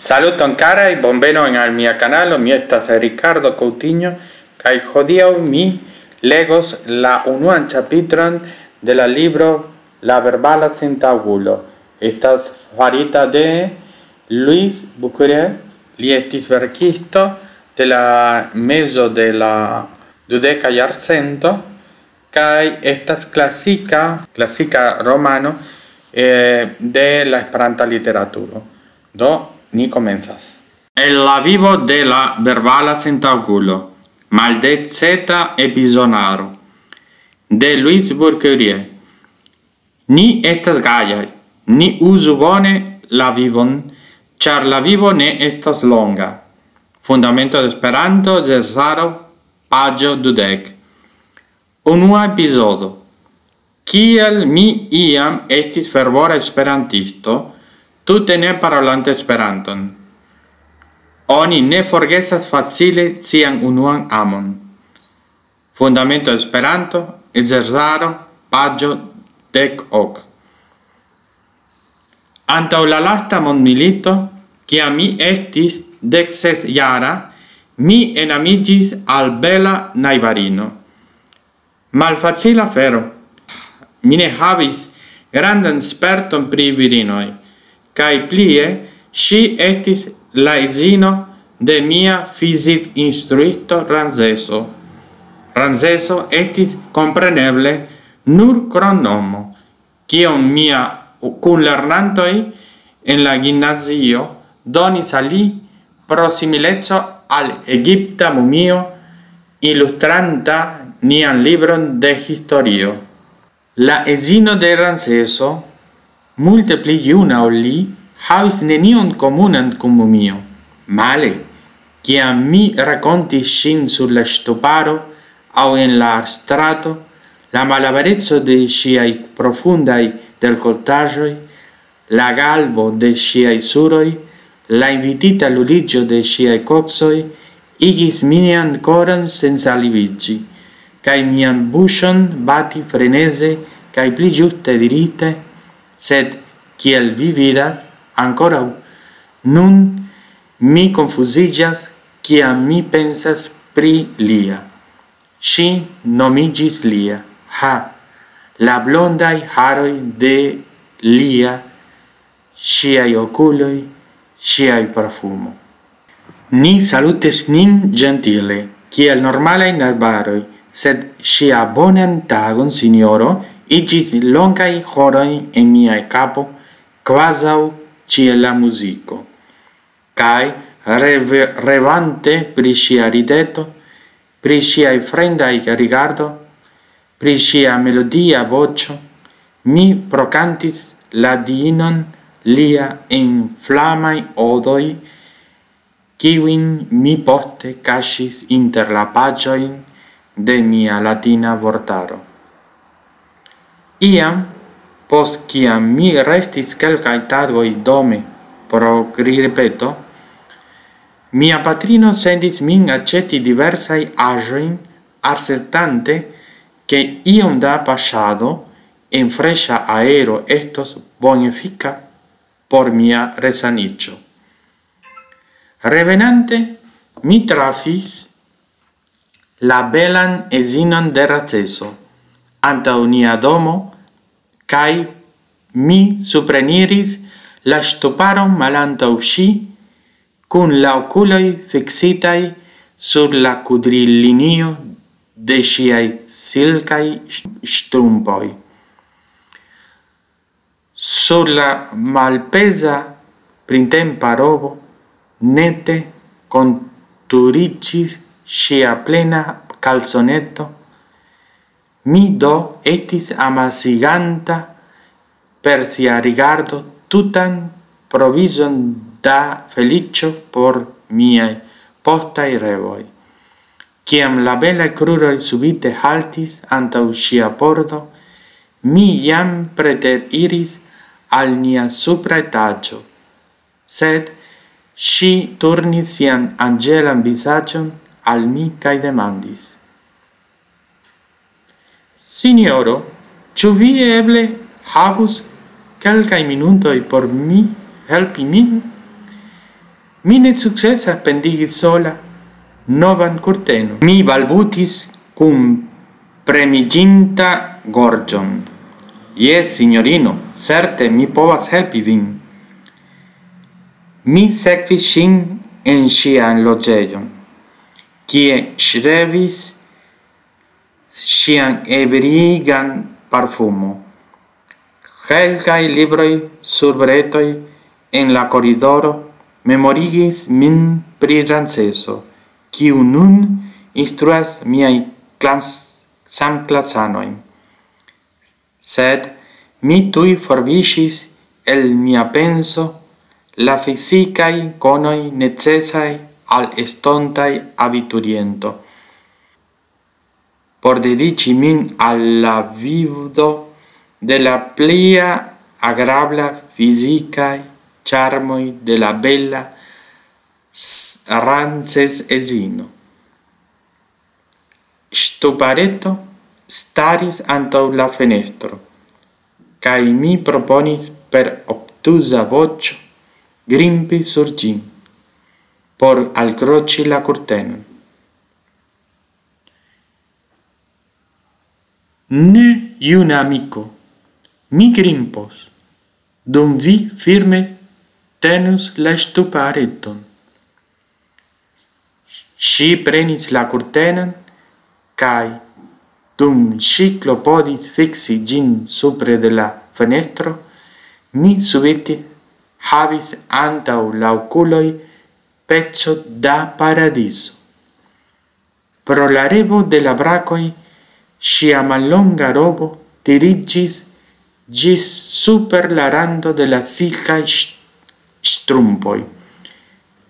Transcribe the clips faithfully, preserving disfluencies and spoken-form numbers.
Saluton karaj, bonvenon al mia kanalo, mi estas Ricardo Coutinho, kaj hodiaŭ mi legos la unuan ĉapitron de la libro La verbala sentaŭgulo. Estas farita de Luis Bucure, li estis verkisto de la mezo de la dudeka jarcento, kaj estas klasika, klasika romano eh, de la esperanta literaturo. Do, ni komencas. El la vivo de la verbala sentaŭgulo, maldeceta epizonaro, de Luis Bourquerier. Ni estas gajaj, ni uzu bone la vivon, ĉar la vivo ne estas longa. Fundamento de Esperanto, Zezaro, paĝo dudek. Unua epizodo. Kiel mi iam estis fervora esperantisto, tute ne parolante Esperanton. Oni ne forgesas facile sian unuan amon. Fundamento Esperanto, Zezaro, paĝo dek ok. Antaŭ la lasta mondmilito, kiam mi estis dek ses jara, mi enamiĝis al bela najbarino. Malfacila afero. Mi ne havis grandan sperton pri virinoj, kaj plie ŝi estis la edzino de mia fizik-instruisto Ramzeso. Ramzeso estis kompreneble nur kromnomo, kion mia kunlernantoj en la gimnazio donis al li pro simileco al egipta mumio ilustranta nian libron de historio. La edzino de Ramzeso, multe pli juna ol li, havis nenion komunan kun mumio. Male, kiam mi rakontis ŝin sur la ŝtuparo aŭ en la strato, la malabereco de ŝiaj profundaj dekoltaĵoj, la galvo de ŝiaj suroj, la invitita luliĝo de ŝiaj koksoj igis mian koron sensaliviĝi, kaj mian buŝon bati freneze kaj pli ĝuste dirite, sed, kiel vi vidas, ankoraŭ nun mi konfuziĝas, kiam mi pensas pri lia. Ŝi nomiĝis Lia. Ha, la blondaj haroj de Lia, ŝiaj okuloj, ŝiaj profumo. Ni salutis nin ĝentile, kiel normalaj najbaroj, sed ŝia bonan tagon, sinjoro, iĝis longaj horoj en miaj kapo, kvazaŭ ĉiela muziko. Kaj reve-, revante pri ŝia rideto, pri ŝiaj fremdaj rigardo, pri ŝia melodia voĉo, mi prokantis la diinon Lia en flamaj odoj, kiujn mi poste kaŝis inter la paĝojn de mia latina vortaro. Iam, post kiam mi restis kelkaj tagoj dome pro ripeto, mia patrino sendis min aĉeti diversaj aĵojn, asertante, ke iom da paŝado en freŝa aero estos bonefika por mia resaniĝo. Revenante, mi trafis la belan edzinon de Ramzeso antaŭ nia domo, kaj mi supreniris la ŝtuparon malantaŭ ŝi, kun la okuloj fiksitaj sur la kudrilinio de ŝiaj silkaj ŝ-, ŝtrumpoj. Sur la malpeza printempa robo nete konturiĝis ŝia plena kalsoneto. Mi do estis amasiganta per sia rigardo tutan provizon da feliĉo por miaj postaj revoj. Kiam la belaj kruroj subite haltis antaŭ ŝia pordo, mi jam preteriris al nia supra etaĝo, sed ŝi turnis sian anĝelan vizaĝon al mi kaj demandis: "Sinjoro, ĉu vi eble havus kelkaj minutoj por mi helpi min?" Mi ne sukcesas pendigi sola novan kurtenon. Mi balbutis kun premiĝinta gorĝon. Jes, sinjorino, certe mi povas helpi vin. Mi sekvis ŝin en ŝian loĝejon, kie ŝrevis ŝian ebrigan parfumo. Kelkaj libroj sur bretoj en la koridoro memorigis min pri Ramseso, kiu nun instruas miaj klas-, samklasanojn. Sed mi tuj forviŝis el mia penso la fizikaj konoj necesaj al estontaj abituriento por dediĉi min al la vido de la plia agrabla fizikaj ĉarmoj de la bela s-, Ramses edzino. Ŝtupareto staris antaŭ la fenestro, kaj mi proponis per obtuza voĉo grimpi sur ĝin, por alkroĉi la kurtenon. Ne, juna amiko, mi grimpos, dum vi firme tenus la ŝtupareton. Ŝi prenis la kurtenon, kaj dum ŝi klopodis fiksi ĝin supre de la fenestro, mi subite havis antaŭ la okuloj peco da paradizo. Pro la revo de la brakoj ŝia mallonga robo tiriĝis ĝis super la rando de la silkaj ŝ-, ŝtrumpoj,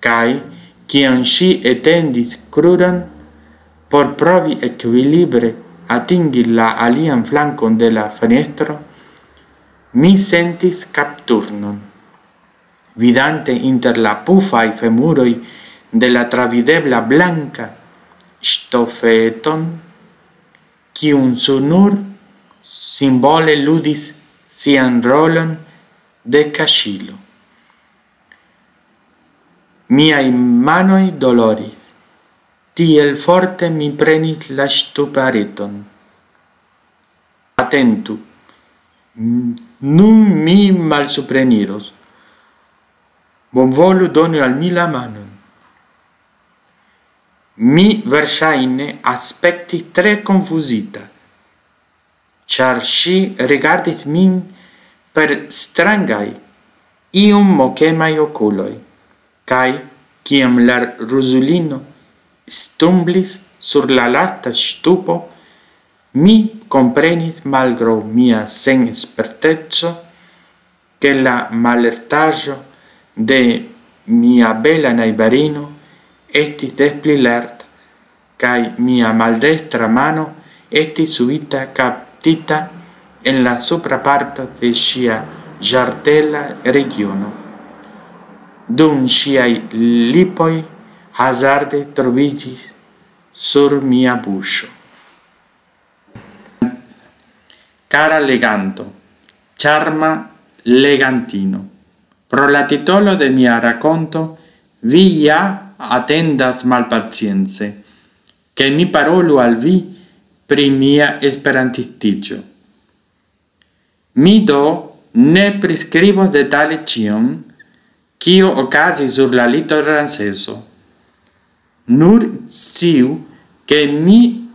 kaj kiam ŝi etendis kruron por provi ekvilibre atingi la alian flankon de la fenestro, mi sentis kapturnon. Vidante inter la pufaj femuroj de la travidebla blanka ŝtofeton, kiun sur nur simbole ludis sian rolon de kaŝilo. Miaj manoj doloris, tiel forte mi prenis la ŝtupareton. Atentu, nun mi malsupreniros. Bonvolu doni al mi la manon. Mi verŝajne aspektis tre konfuzita, ĉar ŝi rigardis min per strangaj, iom mokemaj okuloj, kaj kiam la ruzulino stumblis sur la lasta ŝtupo, mi komprenis, malgraŭ mia senesperteco, ke la malertaĵo de mia bela najbarino estis des pli lerta, kaj mia maldekstra mano estis subita kaptita en la supra parto de ŝia ĝartela regiono, dum ŝiaj lipoj hazarde troviĝis sur mia buŝo. Kara leganto, ĉarma legantino, pro la titolo de mia rakonto vi ja atendas malpacience, ke mi parolu al vi pri mia esperantistiĝo. Mi do ne priskribos detale ĉion, kio okazis sur la litoranseso. Nur sciu, ke mi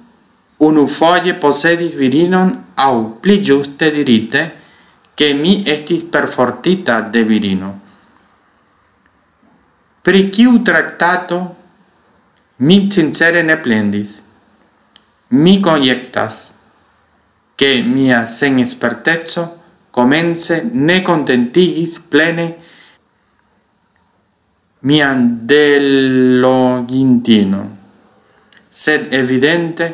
unufoje posedis virinon, aŭ pli ĝuste dirite, ke mi estis perfortita de virino. Pri kiu traktato mi sincere ne plendis. Mi konjektas, ke mia senesperteco komence ne kontentigis plene mian delogintinon, sed evidente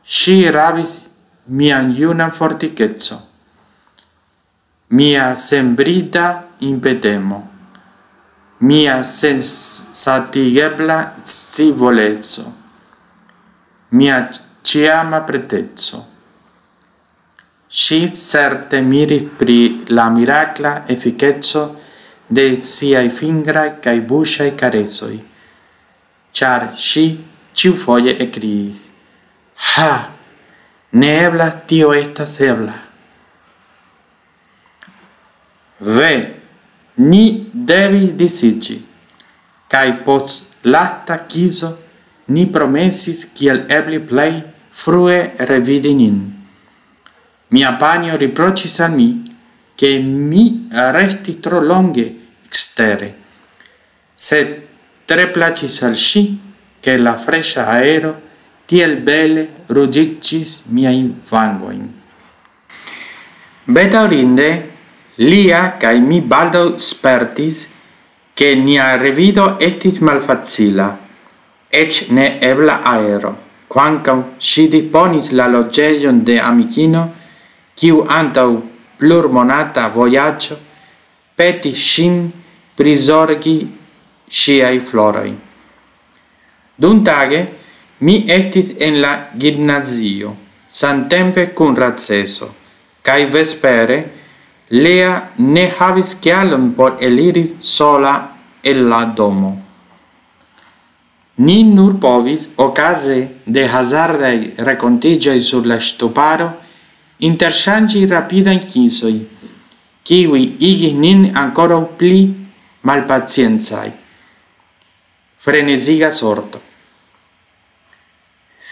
ŝi rabis mian junan fortikecon. Mia senbrida impetemo, mia sensatigebla scivoleco, mia ĉiama preteco. Ŝi certe miris pri la mirakla efikeco de siaj fingraj kaj buŝaj karesoj, ĉar ŝi ĉiufoje ekkriis: "Ha! Ne eblas, tio estas ebla." Ve, ni devis disiĝi, kaj post lasta kiso ni promesis kiel eble plej frue revidi nin. Mia panjo riproĉis al mi, ke mi restis tro longe ekstere, sed tre plaĉis al ŝi, ke la freŝa aero tiel bele ruĝiĝis miajn vangojn. Bedaŭrinde, Lia kaj mi baldaŭ spertis, ke nia revido estis malfacila, eĉ ne ebla aero, kvankam ŝi disponis la loĝejon de amikino, kiu antaŭ plurmonata vojaĝo petis ŝin prizorgi ŝiaj floroj. Dumtage mi estis en la gimnazio, samtempe kun Raceso, kaj vespere Lea ne havis kialon por eliri sola el la domo. Ni nur povis, okaze de hazardaj renkontiĝoj sur la ŝtuparo, interŝanĝi rapidajn kisoj, kiuj igis nin ankoraŭ pli malpaciencaj. Freneziga sorto.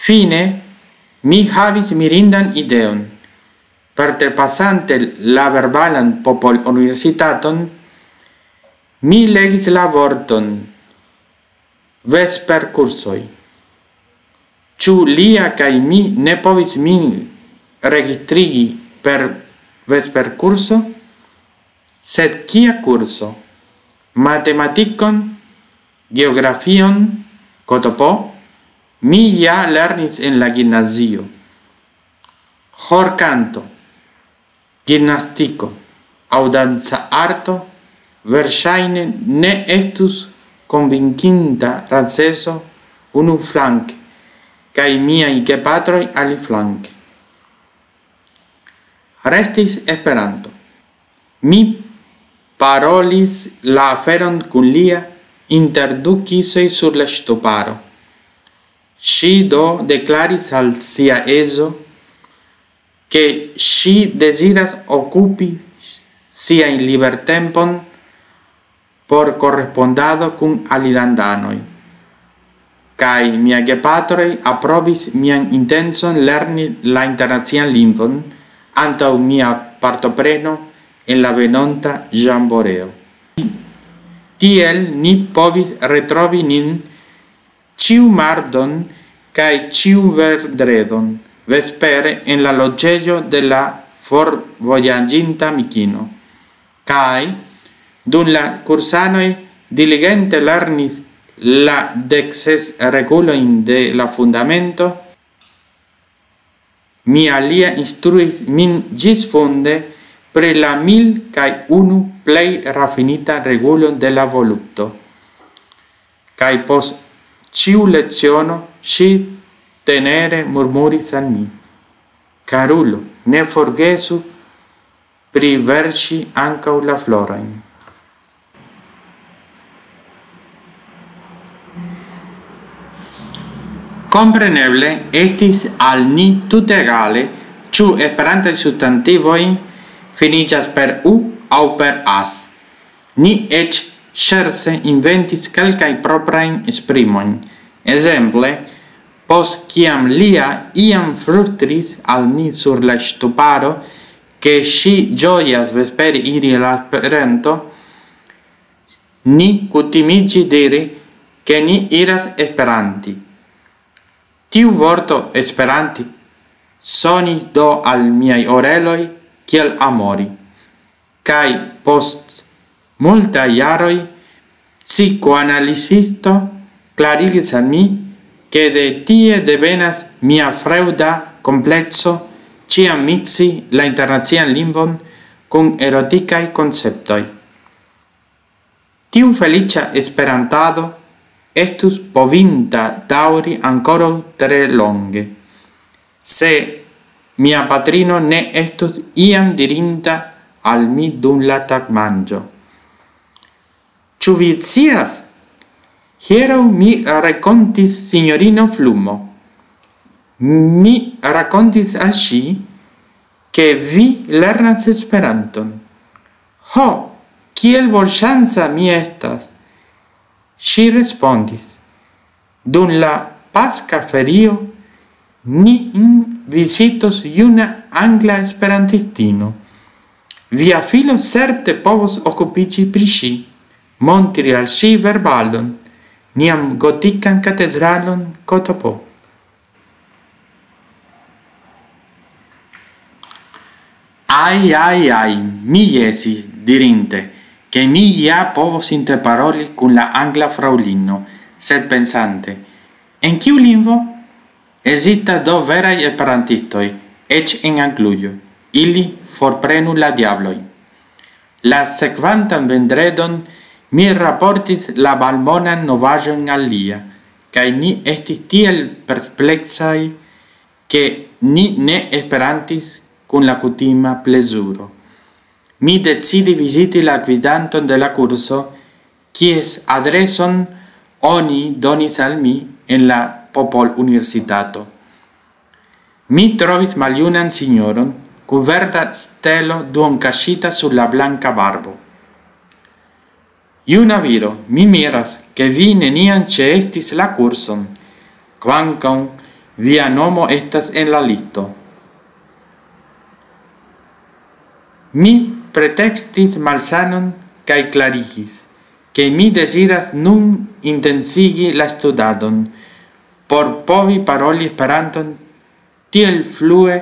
Fine, mi havis mirindan ideon. Preterpasante la verbalan popoluniversitaton, mi legis la vorton vesperkursoj. Ĉu Lia kaj mi ne povis min registrigi per vesperkurso? Sed kia kurso? Matematikon, geografion, K T P, mi ja lernis en la gimnazio. Ĥorkanto, gimnastiko aŭ danca arto verŝajne ne estus konvinkinta Raceso unuflanke kaj miaj gepatroj aliflanke. Restis Esperanto. Mi parolis la aferon kun Lia inter du kisoj sur la ŝtuparo. Ŝi do deklaris al sia edzo, ke ŝi deziras okupi siajn libertempon por korespondado kun alilandanoj. Kaj mia gepatroj aprobis mian intencon lerni la internacian lingvon antaŭ mia partopreno en la venonta ĵamboreo. Tiel ni povis retrovi nin ĉiu mardon kaj ĉiu vendredon vespere en la loĝejo de la forvojaĝinta amikino. Kaj dum la kursanoj diligente lernis la dek ses regulojn de la fundamento, mi al Lia instruis min ĝisfunde pri la mil kaj unu plej rafinita regulo de la volupto. Kaj post ĉiu leciono ŝi tenere murmuris al mi: "Karulo, ne forgesu priverŝi ankaŭ la florojn." Kompreneble estis al ni tute egale, ĉu esperantaj substantivoj finiĝas per u aŭ per as. Ni eĉ ŝerce inventis kelkajn proprajn esprimojn. Ekzemple, post kiam Lia iam flustris al mi sur la ŝtuparo, ke ŝi ĝojas vespere iri al Esperanto, ni kutimiĝis diri, ke ni iras esperanti. Tiu vorto esperanti sonis do al miaj oreloj kiel amori. Kaj post multaj jaroj psikoanalizisto klarigis al mi, ke de tie devenas mia freŭda komplekso ĉiam miksi la internacian lingvon kun erotikaj konceptoj. Tiu feliĉa esperantado estus povinta daŭri ankoraŭ tre longe, se mia patrino ne estus iam dirinta al mi dum la tagmanĝo: Ĉu vi scias? Hieraŭ mi rakontis sinjorino Flumo. Mi rakontis al ŝi, ke vi lernas Esperanton. Ho, kiel bonŝanca mi estas! Ŝi respondis: dum la paska ferio nin vizitos juna angla esperantistino. Via filo certe povos okupiĝi pri ŝi, montri al ŝi verbalon, nian gotikan katedralon Kotopo. Aj, aj, aj, mi jesis, dirinte, ke mi ja povos interparoli kun la angla fraŭlino, sed pensante: en kiu lingvo? Ekzistas do veraj esperantistoj, eĉ en Anglujo. Ili forprenu la diablojn. La sekvantan vendredon mi raportis la malbonan novaĵon al lia, kaj ni estis tiel perpleksaj, ke ni ne esperantis kun la kutima plezuro. Mi decidis viziti la gvidanton de la kurso, kies adreson oni donis al mi en la Popoluniversitato. Mi trovis maljunan sinjoron kun verda stelo duonkaŝita sur la blanka barbo. Juna viro, mi miras, ke vi neniam ĉeestis la kurson, kvankam via nomo estas en la listo. Mi pretekstis malsanon kaj klarigis, ke mi deziras nun intensigi la studadon por povi paroli Esperanton tiel flue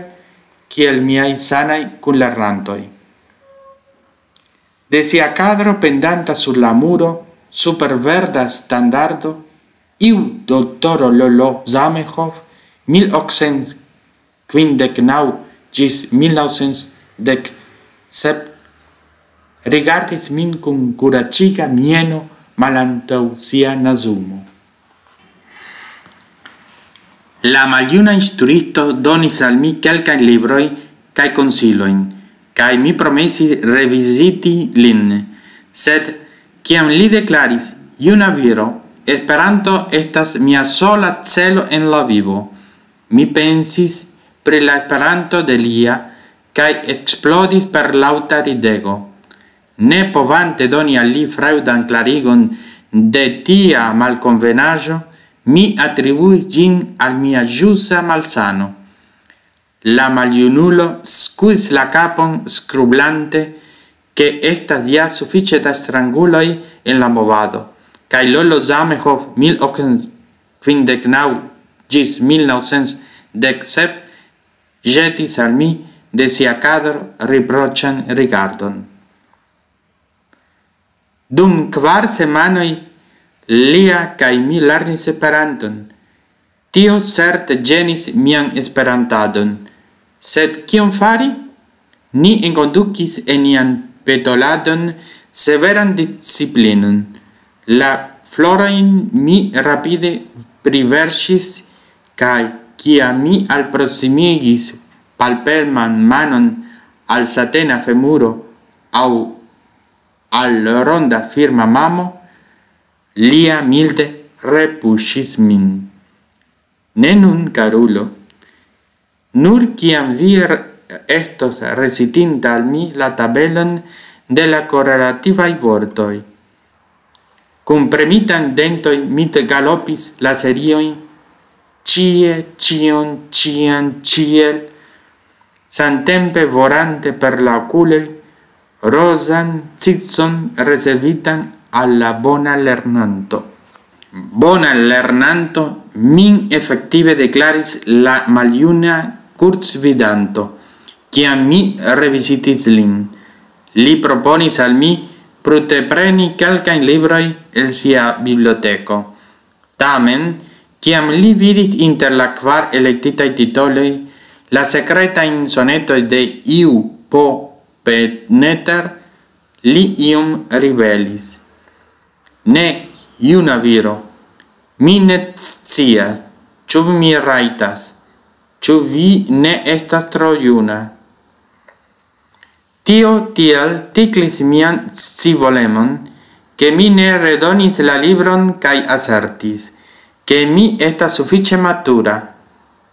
kiel miaj sanaj kunlernantoj. De sia kadro pendanta sur la muro, super verda standardo, iu doktoro Lolo Zamenhof, mil okcent kvindek naŭ ĝis mil naŭcent dek sep, rigardis min kun kuraĝiga mieno malantaŭ sia nazumo. La maljuna instruisto donis al mi kelkajn librojn kaj konsilojn, kaj mi promesis reviziti lin. Sed kiam li deklaris: "Juna viro, Esperanto estas mia sola celo en la vivo", mi pensis pri la Esperanto de lia, kaj eksplodis per laŭta ridego. Ne povante doni al li fraŭdan klarigon de tia malkonvenaĵo, mi atribuis ĝin al mia ĵusa malsano. La maljunulo skuis la kapon, skrublante, ke estas ja sufiĉe da stranguloj en la movado, kaj Lolo Zamenhof, mil okcent kvindek naŭ ĝis mil naŭcent dek sep, ĵetis al mi de sia kadro riproĉan rigardon. Dum kvar semajnoj lia kaj mi lernis Esperanton. Tio certe ĝenis mian esperantadon. Sed kion fari? Ni enkondukis en nian petoladon severan disciplinon. La florojn mi rapide priverŝis, kaj kiam mi alproksimigis palpeman manon al satena femuro aŭ al ronda firma mamo, lia milde repuŝis min. Ne nun, karulo, nur kiam vi re-, estos recitinta al mi la tabelon de la korelativaj vortoj. Kun premitan dentoj mi galopis la seriojn, ĉie, ĉion, ĉiam, ĉiel, samtempe vorante per la okuloj rozan cicon rezervitan al la bona lernanto. Bona lernanto, min efektive deklaris la maljuna kursvidanto, kiam mi revizitis lin. Li proponis al mi prutepreni kelkajn librojn el sia biblioteko. Tamen, kiam li vidis inter la kvar elektitaj titoloj la sekretajn sonetojn de iu po Petneter, li iom ribelis. Ne, juna viro, mi ne scias, ĉu mi rajtas, ĉu vi ne estas tro juna. Tio tiel tiklis mian scivolemon, Ke mi ne redonis la libron kaj asertis, ke mi estas sufiĉe matura.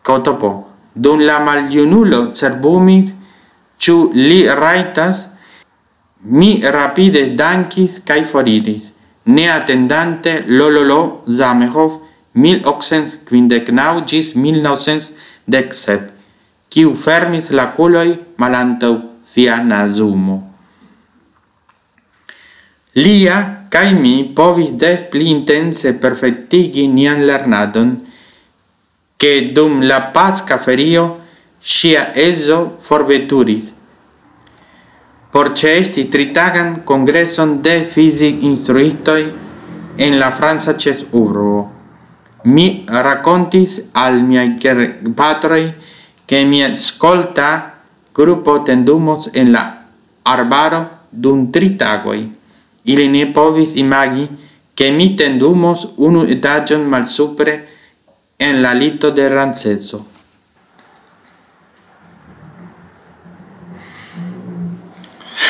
Kotopo, dum la maljunulo cerbumis, ĉu li rajtas, mi rapide dankis kaj foriris, ne atendante Lololo Zamenhof mil okcent kvindek naŭ ĝis mil naŭcent dek sep, kiu fermis la kuloj malantaŭ sia nazumo. Lia kaj mi povis des pli intense perfektigi nian lernadon, ke dum la Paska ferio ŝia edzo forveturis por ĉeesti tritagan kongreson de fizik-instruistoj en la franca ĉefurbo. Mi rakontis al miaj gepatroj, ke mia skolta grupo tendumos en la arbaro dum tri tagoj. Ili ne povis imagi, ke mi tendumos unu etaĝon malsupre en la lito de Ramseso.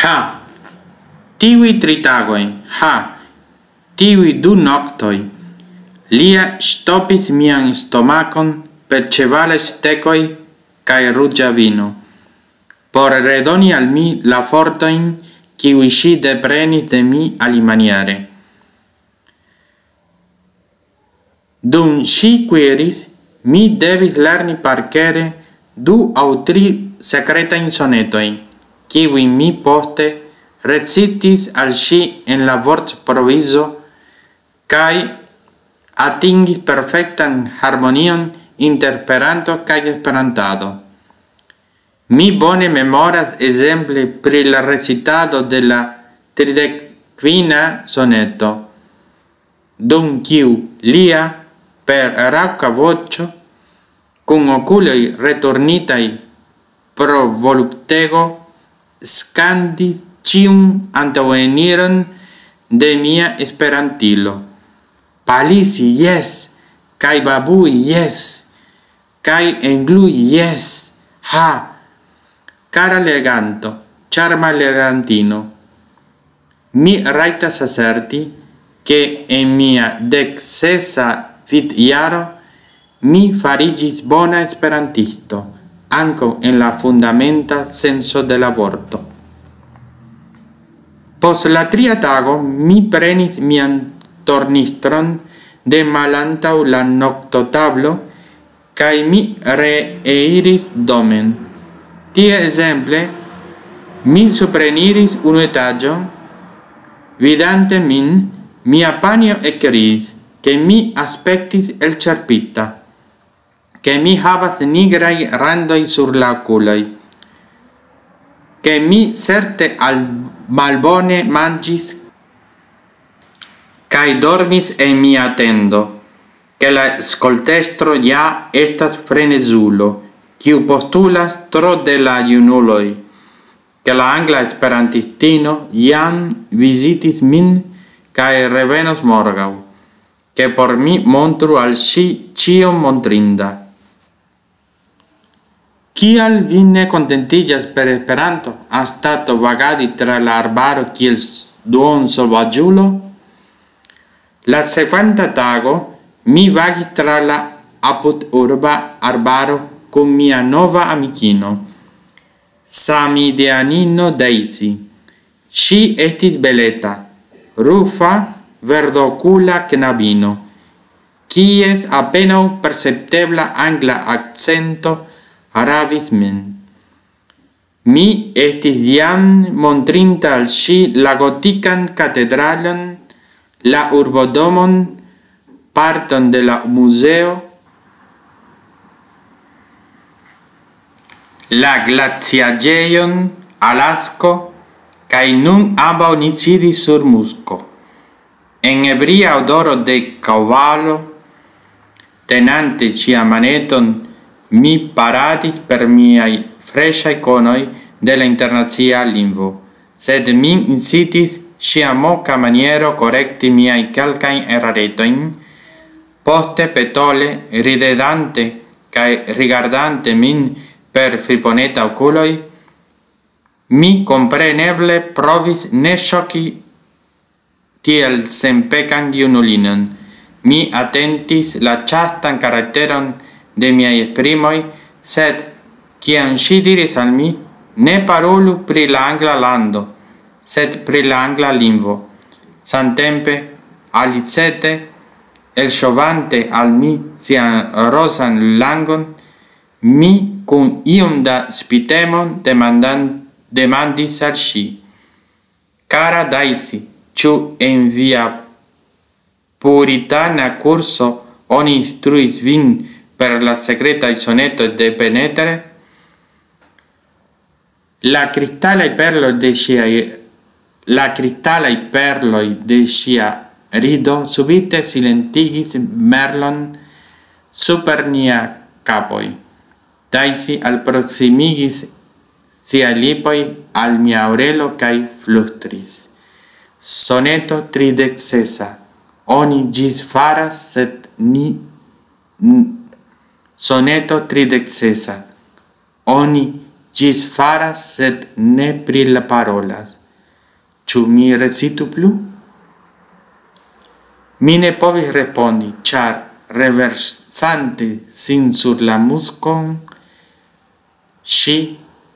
Ha! Tiuj tri tagoj, ha! Tiuj du noktoj! Lia ŝtopis mian stomakon per ĉevalaj stekoj kaj ruĝa vino, por redoni al mi la fortojn, kiuj ŝi deprenis de mi alimaniere. Dum ŝi kuiris, mi devis lerni parkere du aŭ tri sekretajn sonetojn, kiujn mi poste recitis al ŝi en la vortprovizo, kaj atingis perfektan harmonion inter Esperanto kaj Esperantado. Mi bone memoras ekzemple pri la recitado de la tridek kvina soneto, dum kiu lia per raŭka voĉo, kun okuloj returnitaj pro voluptego, skandis ĉiun antaŭeniron de mia esperantilo. Palisi, jes, kaj babui, jes, kaj englui, jes, ha! Kara leganto, ĉarma legantino, mi rajtas aserti, ke en mia deksesa vivjaro mi fariĝis bona esperantisto, ankaŭ en la fundamenta senco de la vorto. Post la tria tago mi prenis mian tornistron de malantaŭ la noktotablo, kaj mi reiris domen. Tie ekzemple, mi supreniris unu etaĝon, vidante min, mia panjo ekkriis, ke mi aspektis elĉerpita, ke mi havas nigraj randoj sur la okuloj, ke mi certe al malbone manĝis kaj dormis en mia tendo, ke la skoltestro ja estas frenezulo, kiu postulas tro de la junuloj, ke la angla esperantistino jam vizitis min kaj revenos morgaŭ, ke por mi montru al ŝi ĉion montrinda. Kial vi ne kontentiĝas per Esperanto, anstataŭ vagadi tra la arbaro kiel s-, duonsovaĝulo? La sekvanta tago mi vagis tra la apudurba arbaro kun mia nova amikino, samideanino Daisy. Ŝi estis beleta, rufa, verdokula knabino, kies apenaŭ perceptebla angla akcento ravis min. Mi estis jam montrinta al ŝi la gotikan katedralon, la urbodomon, parton de la muzeo, la glaciaĵejon, Alasko, kaj nun ambaŭ ni sidis sur musko. En ebria odoro de kaŭvalo, tenante ŝian maneton, mi paradis per miaj freŝaj konoj de la internacia lingvo, sed min incitis ŝia moka maniero korekti miajn kelkajn eraretojn, poste petole, ridedante kaj rigardante min per friponeta okuloj, mi kompreneble provis ne ŝoki tiel senpekan junulinon. Mi atentis la ĉastan karakteron de miaj esprimoj, sed kiam ŝi diris al mi: "Ne parolu pri la angla lando, sed pri la angla lingvo." Samtempe, alicete, elŝovante al mi sian rozan langon, mi kun iom da spitemon demandan-, demandis al ŝi: "Kara Daisy, ĉu en via puritana kurso oni instruis vin per la sekretaj sonetoj de Penetre?" La kristalaj perloj de ŝiaj, la kristalaj perloj de ŝia rido subite silentigis merlon super nia kapoj. Daisy alproksimigis sia lipoj al mia orelo kaj flustris: "Soneto tridek sesa. Oni ĝis faras, sed ni, n-, soneto tridek sesa. Oni ĝis faras, sed ne pri la parolas. Ĉu mi recitu plu?" Mi ne povis respondi, ĉar reversante sin sur la muskon, ŝi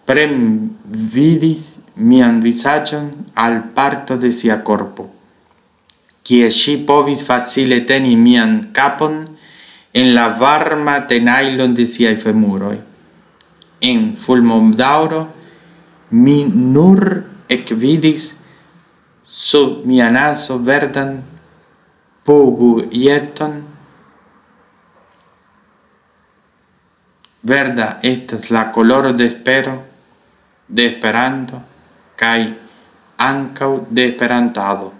premvidis mian vizaĝon al parto de sia korpo, kie ŝi povis facile teni mian kapon en la varma tenajlo de siaj femuroj. En fulmodaŭro mi nur ekvidis sub mia nazo verdan pugujeton. Verda estas la koloro de espero, de Esperanto, kaj ankaŭ de esperantado.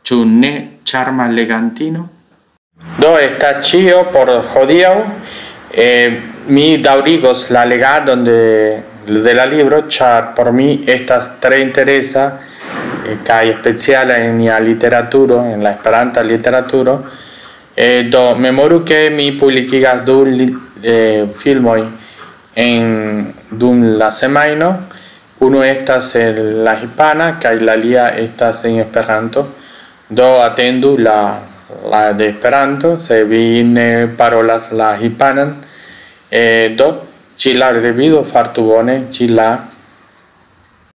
Ĉu ne, ĉarma legantino? Do, estas ĉio por hodiaŭ. Eh, mi daŭrigos la legadon de, de la libro, ĉar por mi estas tre interesa, eh, kaj speciala en nia literaturo, en la esperanta literaturo. Eh, do, memoru, ke mi publikigas du li-, eh, filmoj en, dum la semajno. Unu estas en la hispana, kaj la alia estas en Esperanto. Do, atendu la, la de Esperanto, se vi ne parolas la hispanan. Eh, do, ĉi la revido, fartu bone, ĉi la